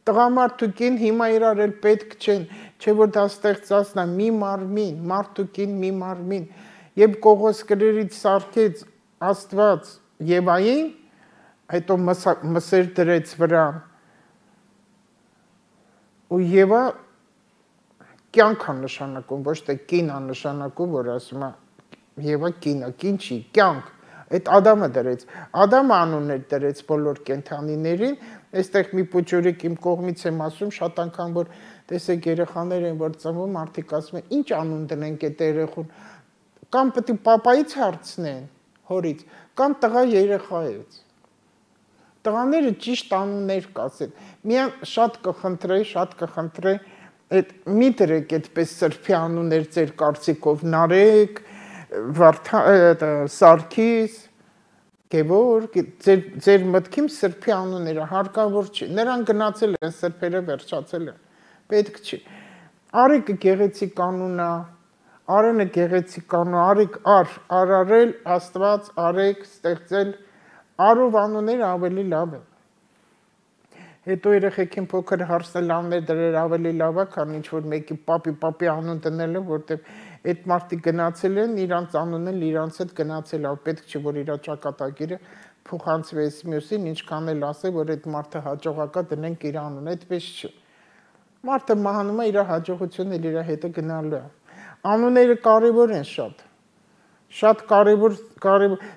Տղամարդուկին հիմա իրար էլ պետք չեն, չէ որ դա ստեղծածն է մի մարմին, մարդուկին մի մարմին, եւ Կողոս գրերից սարքեց Աստված Եվային, հետո մսեր դրեց վրան, ու Եվա կյանք է նշանակում, ոչ թե կին է նշանակում, որ ասում է Եվա կին է, կին չի, կյանք, այդ Ադամը դրեց, Ադամը անուններ դրեց բոլոր կենդանիներին, այստեղ մի փոճուրիկ իմ կողմից եմ ասում, շատ անգամ որ տեսեք երեխաներ են որ ծնվում, մարդիկ ասում են, ինչ անուն դնենք այդ երեխուն, կամ պետք է պապայից հարցնեն, հորից, կամ տղա երեխայից։ Տղաները ճիշտ անուններ կասեն։ Միան շատ կխնդրեի, այդ մի դրեք այդպես սրբի անուններ ձեր կարծիքով, Նարեկ, Սարգիս, Գևորգ, ձեր մտքին սրբի անունները հարկավոր չի, նրան գնացել են սրբերը վերջացել են, պետք չի։ Արիկը գեղեցիկ անուն է, Արենը գեղեցիկ անուն, Արիկ արարել, Աստված, Արեք, ստեղծել, Արով անունները ավելի լավ են։ Հետո երեխեքին փոքր հարսնելաններ դրել ավելի լավ է, քան ինչ-որ մեկի պապի անուն դնելը, որտեղ այդ մարդիկ գնացել են, իրանց անունը իրանց հետ գնացել է, պետք չէ, որ իր ճակատագիրը փոխանցվես մյուսին, ինչքան էլ ասե, որ այդ մարդը հաջողակա դնենք իր անունը, այդպես չէ։ Մարդը մահանում է, իր հաջողությունն իր հետը գնալու է։ Անունները կարևոր են շատ կարևոր,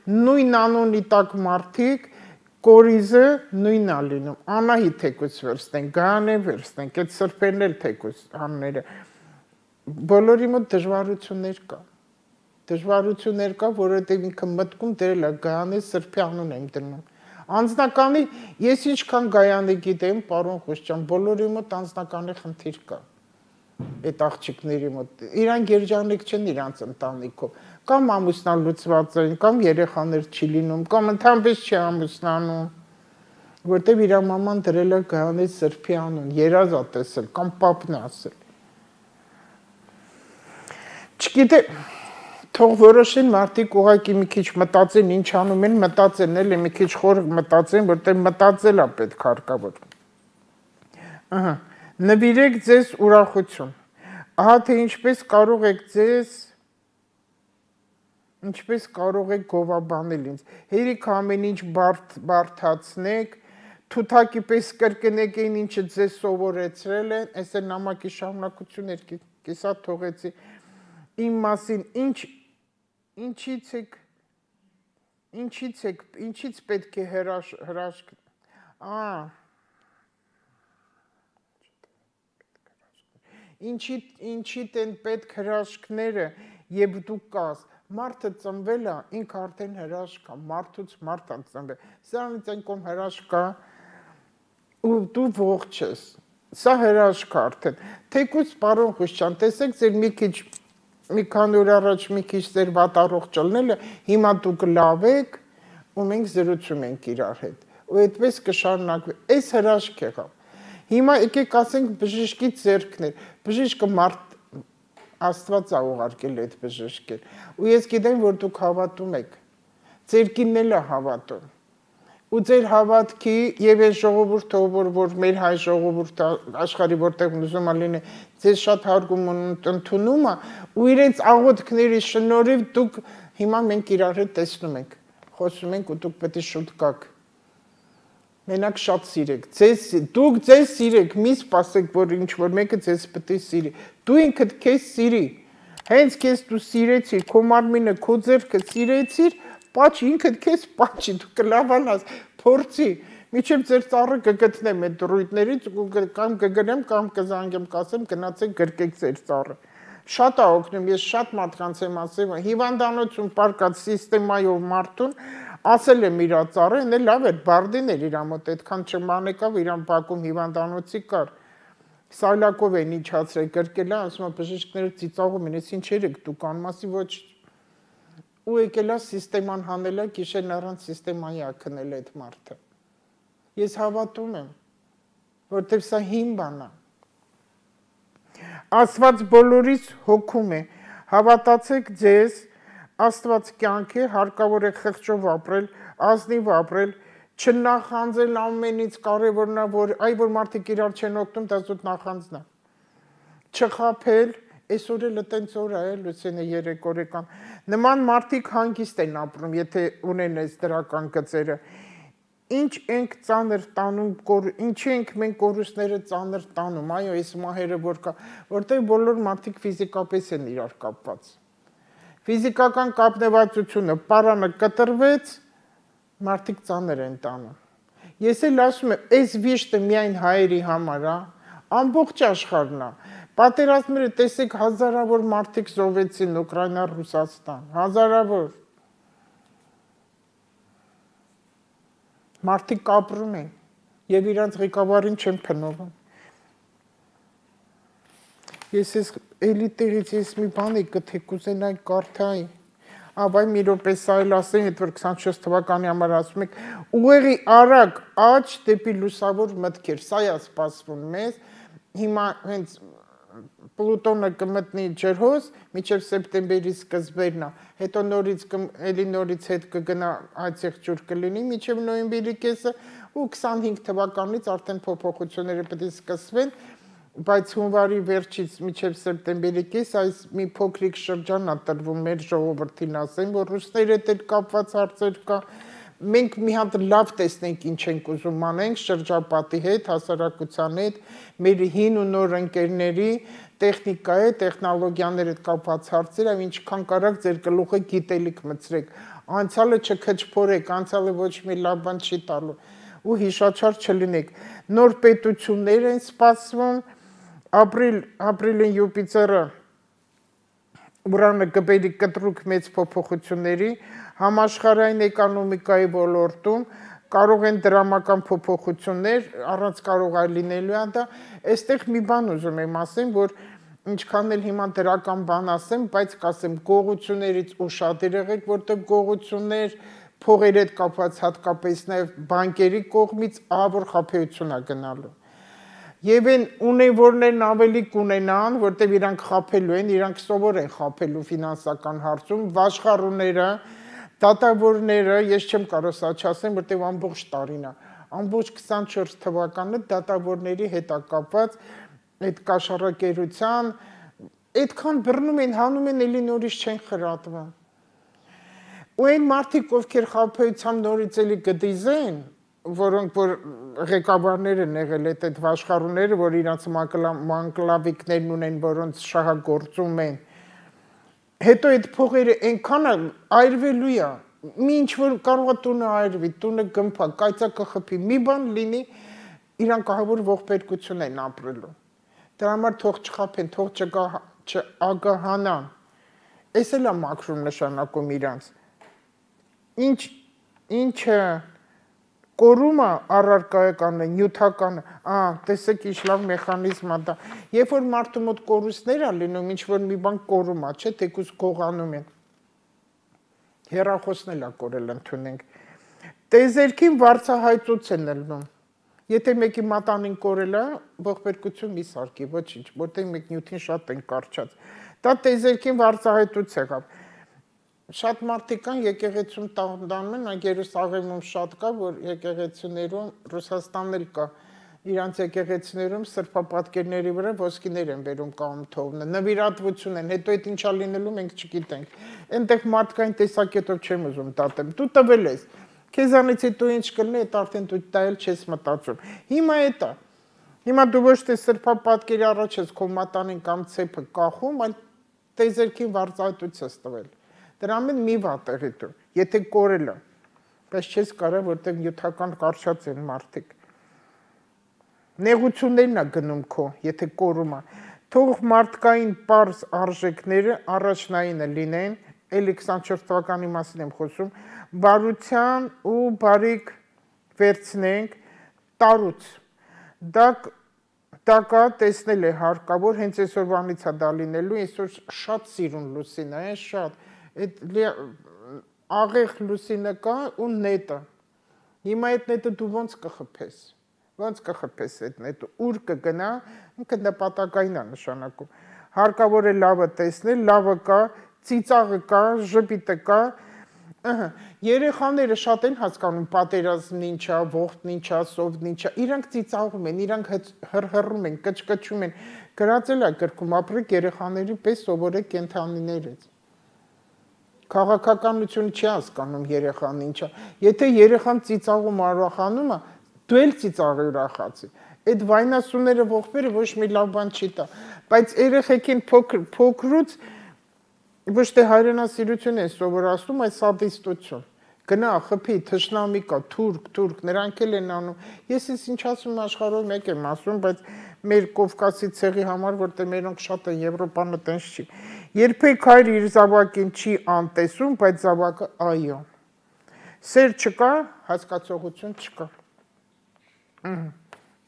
նույն անունի տակ մարդիկ, կորիզը նույնն է լինում, Անահիտ թեկուզ վերցնենք, Գայանե վերցնենք, այդ սրբերն էլ թեկուզ անունները, բոլորի մոտ դժվարություններ կա, որովհետև ինքը մտքում դրել է Գայանե սրբի անուն եմ դնում։ Անձնականի, ես ինչքան Գայանե գիտեմ, պարոն Խուշչյան, բոլորի մոտ անձնականի խնդիր կա, այդ աղջիկների մոտ, իրանք երջանիկ չեն իրանց ընտանիքով, կամ ամուսնալուծված են, կամ երեխաներ չի լինում, կամ ընդհանրապես չի ամուսնանում, որտև իր մաման դրել է Գայանե սրբի անուն, երազ ա տեսել, կամ պապն է ասել։ Չգիտեմ, թող որոշեն մարդիկ ուղղակի մի քիչ մտածեն, ինչ անում են, մտածեն, էլի մի քիչ խոր մտածեն, որտեղ մտածել է պետք հարկավոր։ Նվիրեք ձեզ ուրախություն։ Ահա թե ինչպես կարող եք գովաբանել ինձ։ Հերիք ամեն ինչ բարդացնեք, թութակի պես կրկնեք այն ինչը ձեզ սովորեցրել են, այս է նամակի շարունակություններ, կիսա թողեցի իմ մասին, ինչից պետք է հրաշք, ինչիդ են պետք հրաշքները, և դու կաս, մարդը ծնվել է, ինք արդեն հրաշք է, մարդուց մարդ է ծնվել, սրանից այն կոմ հրաշք է, ու դու ողջ ես, սա հրաշք է արդեն, թեկուզ պարոն Խուշչյան, տեսեք ձեր մի քանի օր առաջ մի քիչ ձեր վատառող ճլնելը, հիմա դուք լավ եք, ու մենք զրուցում ենք իրար հետ, ու այդպես կշարունակվի, այս հրաշք եղավ, հիմա եկեք ասենք բժշկի ձեռքներ, բժիշկը մարդ Աստված է ուղարկել այդ բժշկեր, ու ես գիտեմ, որ դուք հավատում եք, ձեր կինն էլ է հավատում, ու ձեր հավատքի և այս ժողովուրդը, որ մեր հայ ժողովուրդը աշխարհի որտեղ ուզում է լինի, ձեզ շատ հարգում ընդունում է, ու իրենց աղոթքների շնորհիվ դուք հիմա մենք իրար հետ տեսնում ենք, խոսում ենք ու դուք պետք է շուտ գաք։ Մենակ շատ սիրեք, դուք ձեզ սիրեք, մի սպասեք, որ ինչ-որ մեկը ձեզ պետք է սիրի, դու ինքդ քեզ սիրի, Հենց քեզ դու սիրեցիր, քո մարմինը, քո ձեռքը սիրեցիր, պաչ ինքդ քեզ պաչի, դու կլավանաս, փորձի, միջև ձեր ծառը կգտնեմ այդ դրույթներից, կամ կգնեմ, կամ կզանգեմ, կասեմ, գնացեք գրկեք ձեր ծառը։ Շատ է օգնում, ես շատ մարդկանց եմ ասել, հիվանդանոցում պարկած սիստեմայով մարդուն, ասել եմ իր ծառը, ինձ լավ էր, բարդին էր իր մոտ, այդքան չմանեկավ իրան բակում հիվանդանոցի կար։ Սայլակով են իջացրել, գրկել է, ասում է բժիշկները ծիծաղում են, ես ինչեր եք դուք անում, ասի ոչ, ու եկել է սիստեման հանել է, գիշերն առանց սիստեմայի է քնել այդ մարդը։ Ես հավատում եմ, որտեղ սա հին բան է։ Աստված բոլորիս հոգում է, հավատացեք ձեզ, Աստված կյանք է, հարկավոր է խղճով ապրել, ազնիվ ապրել, չնախանձել ամենից կարևորն է, որ մարդիկ իրար չեն օգնում, դա զուտ նախանձն է։ Չխաբել, այսօր էլ տենց օր է, Լուսինե երեք օրեկան։ Նման մարդիկ հանգիստ են ապրում, եթե ունեն այս դրական գծերը։ Ինչ ենք ծանր տանում, ինչի ենք մենք կորուստները ծանր տանում, այո, այս մահերը որ կա, որտեղ բոլոր մարդիկ ֆիզիկապես են իրար կապված։ Ֆիզիկական կապնվածությունը պարանը կտրվեց, մարդիկ ծանր են տանում։ Ես էլ ասում եմ, այս վիշտը միայն հայերի համար է, ամբողջ աշխարհն է։ Պատերազմները տեսեք հազարավոր մարդիկ զոհվեցին Ուկրաինա, Ռուսաստան, հազարավոր։ Մարդիկ ապրում են եւ իրանց ղեկավարին չեն փնովում։ Ես ես էլի տեղից ես մի բան եկի կուզենայի կարդայի։ Ավայ մի րոպե սա էլ ասեմ, այդ որ 24 թվականի համար ասում եք, ուղեղի արագ աճ դեպի լուսավոր մտքեր, սա է սպասվում մեզ, հիմա հենց Պլուտոնը կմտնի ջրհոս, մինչև սեպտեմբերի սկզբերն է, հետո էլի նորից հետ կգնա այցեղ ջուր կլինի, մինչև նոյեմբերի կեսը ու 25 թվականից արդեն փոփոխությունները պետք է սկսվեն, բայց հունվարի վերջից մինչև սեպտեմբերի կես այս մի փոքրիկ շրջան է տրվում մեր ժողովրդին ասեմ, որ ռուսների հետ էլ կապված հարցեր կա, մենք մի հատ լավ տեսնենք ինչ ենք ուզում անենք շրջապատի հետ, հասարակության հետ, մեր հին ու նոր ընկերների, տեխնիկայի, տեխնոլոգիաների հետ կապված հարցեր, ինչքան կարաք ձեր գլուխը գիտելիք մտցրեք, անցյալը չքչփորեք, անցյալը ոչ մի լավ բան չի տալու ու հիշաչար չլինեք։ Նոր պետություններ են սպասվում, ապրիլին Յուպիտերը Ուրանը կբերի կտրուկ մեծ փոփոխությունների, համաշխարհային էկոնոմիկայի ոլորտում կարող են դրամական փոփոխություններ, առանց կարող այլ լինելու է դա, այստեղ մի բան ուզում եմ ասեմ, որ ինչքան էլ հիմա դրական բան ասեմ, բայց կասեմ գողություններից ուշադիր եղեք, որտեղ գողություններ փողերի հետ կապված հատկապես նաև բանկերի կողմից ահավոր խաբեություն է գնալու։ Եվ են ունևորներն ավելի կունենան, որտեղ իրանք խաբելու են, իրանք սովոր են խաբելու ֆինանսական հարցում, վաշխառուները, դատավորները, ես չեմ կարող սա չասեմ, որտեղ ամբողջ տարին է, ամբողջ 24 թվականը դատավորների հետ է կապված այդ կաշառակերության, այդքան բռնում են, հանում են, էլի նորից չեն խրատվում։ Ու այն մարդիկ, ովքեր խաբեությամբ նորից էլի կդիզեն, որոնք որ ղեկավարները եղել այդ վաշխառուները, որ իրանց մանկլավիկներն ունեն, որոնց շահագործում են, հետո այդ փողերը այնքան այրվելու է, մի ինչ որ կարող է տունը այրվի, տունը գմփա, կայծակը խփի, մի բան լինի, իրանք ահավոր ողբերգություն են ապրելու։ Դրա համար թող չխաբեն, թող չագահանան։ Էս էլ է մաքրում նշանակում իրանց։ Ինչը կորումը առարկայական է, նյութական է, տեսեք ինչ լավ մեխանիզմ է դա։ Երբ որ մարդու մոտ կորուստներ է լինում, ինչ որ մի բան կորում է, չէ, թեկուզ գողանում են։ Հեռախոսն էլ է կորել ընդունենք։ Տեզերքին վարձահայտուց են ելնում։ Եթե մեկի մատանին կորել է, ողբերգություն մի սարքի, ոչինչ, որտեղ մեկ նյութին շատ են կարճած։ Դա տեզերքին վարձահայտուց եղավ։ Շատ մարդիկ կան եկեղեցում տանում են, Երուսաղեմում շատ կա, որ եկեղեցիներում Ռուսաստանն էլ կա, իրանց եկեղեցիներում սրբապատկերների վրա ոսկիներ են բերում կամ թողնը, նվիրատվություն են, հետո այդ ինչա լինելու մենք չգիտենք։ Այնտեղ մարդկային տեսակետով չեմ ուզում տատեմ, դու տվել ես, քեզանից հետո ինչ կլինի, այդ արդեն դու դա էլ չես մտածում։ Հիմա էդ է։ Հիմա դու ոչ թե սրբապատկերի առաջ ես քո մատանին կամ ցեպը կախում, այլ Տեզերքին վարձայտույց ես տվել։ Դրա մեն մի վատեղի դու, եթե կորել է, բայց չես կարա, որտեղ նյութական կարճած են մարդիկ։ Նեղություններն է գնում քո, եթե կորում է։ Թող մարդկային պարզ արժեքները առաջնայինը լինեն, էլի 24 թվականի մասին եմ խոսում, բարության ու բարիք վերցնենք տարուց։ Դա կա տեսնել է հարկավոր, հենց այսօրվանից է դա լինելու, այսօր շատ սիրուն լուսին է, շատ, աղեղ լուսինը կա ու նետը։ Հիմա այդ նետը դու ոնց կխփես։ Ոնց կխփես այդ նետը, ուր կգնա, ինքը նպատակային է նշանակում։ Հարկավոր է լավը տեսնել, լավը կա, ծիծաղը կա, ժպիտը կա։ Երեխաները շատ են հասկանում պատերազմն ինչ է, ողբն ինչ է, սովն ինչ է։ Իրանք ծիծաղում են, իրանք հռհռում են, կչկչում են։ Գրածել է գրքում ապրեք երեխաների պես սովորեք կենդանիներից։ Քաղաքականությունը չի հասկանում երեխան ինչ է։ Եթե երեխան ծիծաղում ուրախանում է, դու էլ ծիծաղի ուրախացի։ Այդ վայնասուները ողբերը ոչ մի լավ բան չի տա, բայց երեխեքին փոքրուց ոչ թե հայրենասիրություն են սովորացնում, այլ սադիստություն։ Գնա, խփի, թշնամի կա, թուրք, նրանք էլ են անում։ Ես ինչ ասում աշխարհով մեկ եմ ասում, բայց մեր Կովկասի ցեղի համար, որտեղ մերոնք շատ են, Եվրոպանը տենց չի։ Երբեք հայր իր զավակին չի անտեսում, բայց զավակը այո։ Սեր չկա, հասկացողություն չկա։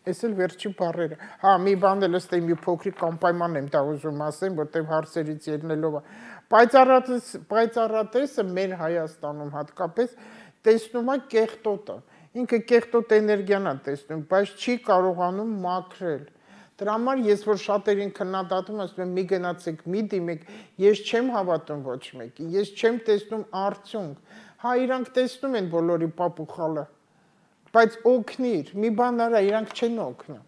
Ես էլ վերջի բառերը։ Հա, մի բան էլ ըստ մի փոքրիկ անպայման եմ դա ուզում ասեմ, որտեղ հարցերից ելնելով է։ Պայծառատեսը մեր Հայաստանում հատկապես տեսնում է կեղտոտը։ Ինքը կեղտոտ էներգիան է տեսնում, բայց չի կարողանում մաքրել։ Դրա համար ես որ շատերին քննադատում եմ, ասում եմ մի գնացեք, մի դիմեք, ես չեմ հավատում ոչ մեկին, ես չեմ տեսնում արդյունք։ Հա, իրանք տեսնում են բոլորի պապուխալը։ Բայց օգնիր, մի բան արա, իրանք չեն օգնա։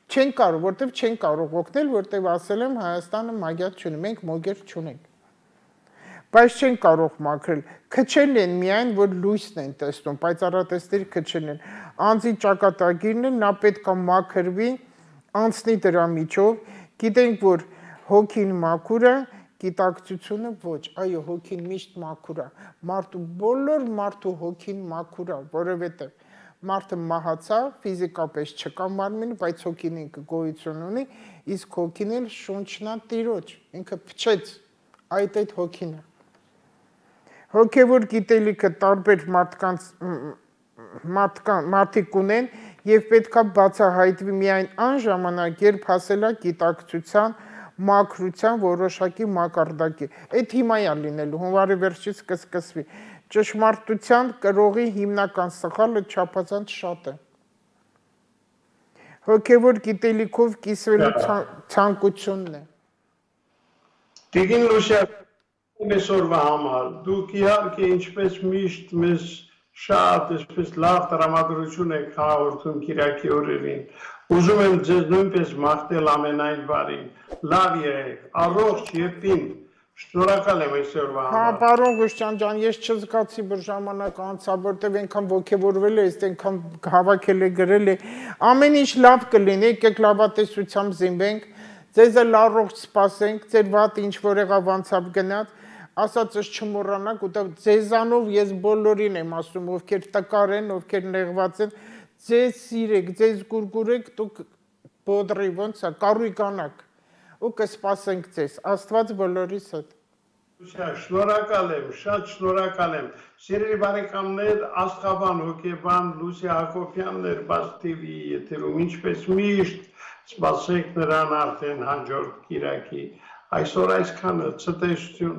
Չեն կարող, որտեվ չեն կարող օգնել, որտեվ ասել եմ Հայաստանը մագիատ չունի, մենք մոգեր չունենք։ Բայց չեն կարող մաքրել։ Քչել են միայն, որ լույսն են տեսնում, պայծառատեսների քչել են։ Անձի ճակատագիրն է, նա պետք է մաքրվի, անցնի դրա միջով, գիտենք, որ հոգին մաքուր է, գիտակցությունը ոչ, այո, հոգին միշտ մաքուր է, բոլոր մարդու հոգին մաքուր է, որովհետև մարդը մահացա, ֆիզիկապես չկա մարմինը, բայց հոգին ինքը գոյություն ունի, իսկ հոգին էլ շունչն է Տիրոջ, ինքը փչեց, այդ հոգին է։ Հոգևոր գիտելիքը տարբեր մարդիկ ունեն եւ պետք է բացահայտվի միայն այն ժամանակ, երբ հասել է գիտակցության մաքրության որոշակի մակարդակի։ Այդ հիմա է լինելու, հունվարի վերջից կսկսվի։ Ճշմարտության կրողի հիմնական սխալը չափազանց շատ է։ Հոգևոր գիտելիքով կիսվելու ցանկությունն է։ Տիկին Լուսիա, այսօրվա համար, դուք իհարկե ինչպես միշտ մեզ շատ այսպես լավ տրամադրություն եք հաղորդում Կիրակի օրերին։ Ուզում եմ ձեզ նույնպես մաղթել ամենայն բարին, լավ եղեք, առողջ եւ պինդ, շնորհակալ եմ այսօրվա համար։ Հա, պարոն Ղուշտյան ջան, ես չզգացի, որ ժամանակ անցավ, որտեղ այնքան ոգևորվել է, այնքան հավաքել է, գրել է, ամեն ինչ լավ կլինի, եկեք լավատեսությամբ զինվենք, ձեզ էլ առողջ սպասենք, ձեր վատ ինչ որ եղավ անցավ գնաց, ասածս չմոռանաք, ու ձեզանով ես բոլորին եմ ասում, ովքեր տկար են, ովքեր նեղված են, ձեզ սիրեք, ձեզ գուրգուրեք, դուք բոդրի ոնց է, կարույկանաք, ու կսպասենք ձեզ, Աստված բոլորիս հետ։ Շնորհակալ եմ, շատ շնորհակալ եմ։ Սիրելի բարեկամներ, աստղաբան, հոգեբան Լուսիա Հակոբյանն էր Բաց TV եթերում, ինչպես միշտ, սպասեք նրան արդեն հաջորդ Կիրակի։ Այսօր այսքանը, ցտեսություն։